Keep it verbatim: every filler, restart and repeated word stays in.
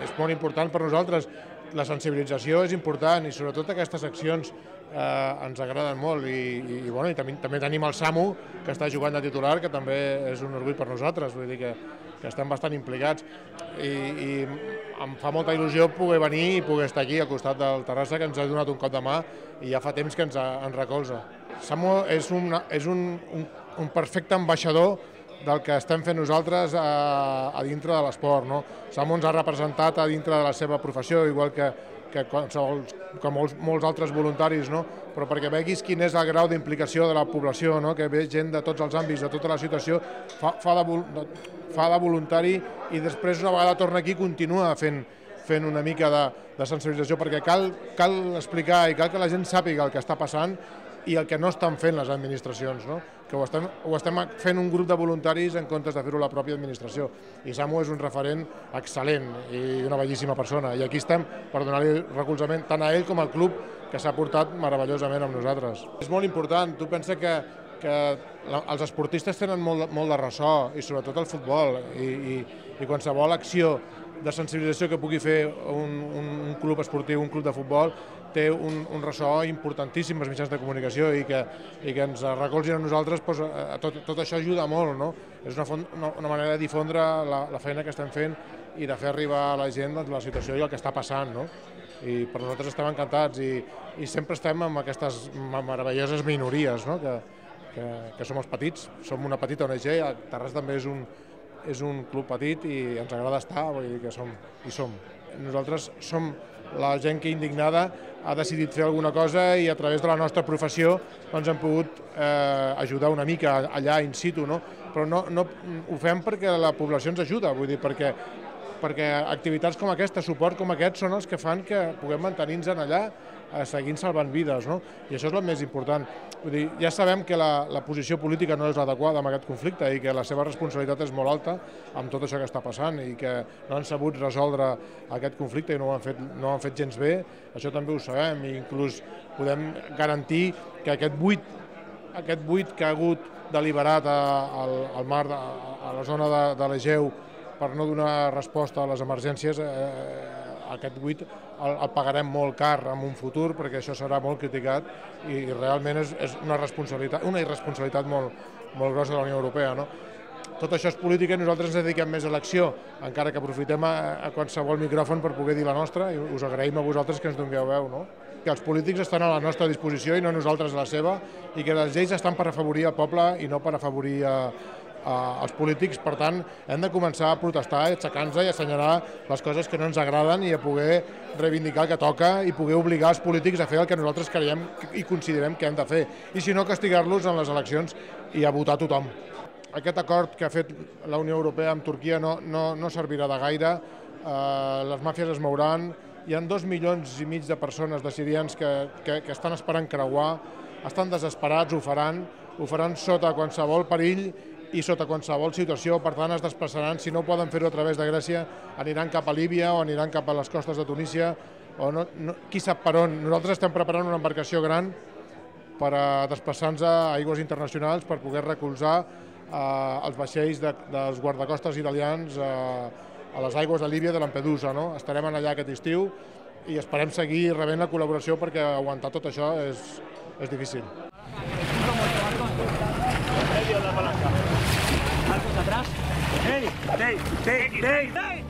És molt important per nosaltres, la sensibilització és important i sobretot aquestes accions eh, ens agraden molt i, i, i, bueno, i també, també tenim el Samu que està jugant de titular, que també és un orgull per nosaltres, vull dir que, que estem bastant implicats i, i em fa molta il·lusió poder venir i poder estar aquí al costat del Terrassa, que ens ha donat un cop de mà i ja fa temps que ens, ens recolza. Samu és, una, és un, un, un perfecte ambaixador del que estem fent nosaltres a, a dintre de l'esport, no? Samu ens ha representat a dintre de la seva professió, igual que, que, que molts, molts altres voluntaris, no? Però perquè veguis quin és el grau d'implicació de la població, no? Que ve gent de tots els àmbits, de tota la situació, fa, fa, de, fa de voluntari i després una vegada torna aquí continua fent, fent una mica de, de sensibilització, perquè cal, cal explicar i cal que la gent sàpiga el que està passant i el que no estan fent les administracions, no? Que ho estem, ho estem fent un grup de voluntaris en comptes de fer-ho la pròpia administració. I Samu és un referent excel·lent i una bellíssima persona. I aquí estem per donar-li recolzament tant a ell com al club, que s'ha portat meravellosament amb nosaltres. És molt important. Tu pensa que, que els esportistes tenen molt, molt de ressò, i sobretot el futbol, i, i, i qualsevol acció de sensibilització que pugui fer un, un, un club esportiu, un club de futbol, té un, un ressò importantíssim als mitjans de comunicació i que, i que ens recolzin a nosaltres, doncs, tot, tot això ajuda molt, no? És una, font, una, una manera de difondre la, la feina que estem fent i de fer arribar a la gent doncs, la situació i el que està passant, no? I per nosaltres estem encantats i, i sempre estem amb aquestes meravelloses minories, no? que, que, que som els petits, som una petita O N G, Terrassa també és un, és un club petit i ens agrada estar, vull dir que som, hi som. Nosaltres som la gent que indignada ha decidit fer alguna cosa i a través de la nostra professió doncs, hem pogut eh, ajudar una mica allà in situ, no? Però no, no, ho fem perquè la població ens ajuda, vull dir, perquè, perquè activitats com aquesta, suport com aquest, són els que fan que puguem mantenir-nos allà eh, seguint salvant vides, no? I això és el més important. Vull dir, ja sabem que la, la posició política no és adequada amb aquest conflicte i que la seva responsabilitat és molt alta amb tot això que està passant i que no han sabut resoldre aquest conflicte i no ho han fet, no ho han fet gens bé, això també ho sabem i inclús podem garantir que aquest buit, aquest buit que ha hagut deliberat al, al mar, a la zona de, de l'Egeu per no donar resposta a les emergències, eh, aquest buit el, el pagarem molt car en un futur perquè això serà molt criticat i, i realment és, és una responsabilitat, una irresponsabilitat molt, molt grossa de la Unió Europea, no? Tot això és política i nosaltres ens dediquem més a l'acció, encara que aprofitem a, a qualsevol micròfon per poder dir la nostra i us agraïm a vosaltres que ens dongueu veu, no? Que els polítics estan a la nostra disposició i no nosaltres a la seva i que les lleis estan per afavorir el poble i no per afavorir a, als polítics, per tant, hem de començar a protestar, a aixecar-nos i a assenyalar les coses que no ens agraden i a poder reivindicar el que toca i poder obligar els polítics a fer el que nosaltres creiem i considerem que hem de fer. I si no, castigar-los en les eleccions i a votar tothom. Aquest acord que ha fet la Unió Europea amb Turquia no, no, no servirà de gaire, eh, les màfies es mouran, hi ha dos milions i mig de persones, de sirians, que, que, que estan esperant creuar, estan desesperats, ho faran, ho faran sota qualsevol perill i sota qualsevol situació, per tant es desplaçaran, si no poden fer-ho a través de Grècia, aniran cap a Líbia o aniran cap a les costes de Tunísia, o no, no, qui sap per on. Nosaltres estem preparant una embarcació gran per a desplaçar-nos a aigües internacionals per poder recolzar eh, els vaixells de, dels guardacostes italians eh, a les aigües de Líbia i de Lampedusa, no? Estarem allà aquest estiu i esperem seguir rebent la col·laboració perquè aguantar tot això és, és difícil. La palanca. Marcos atrás. ¡Ey! ¡Ey! ¡Ey! ¡Ey!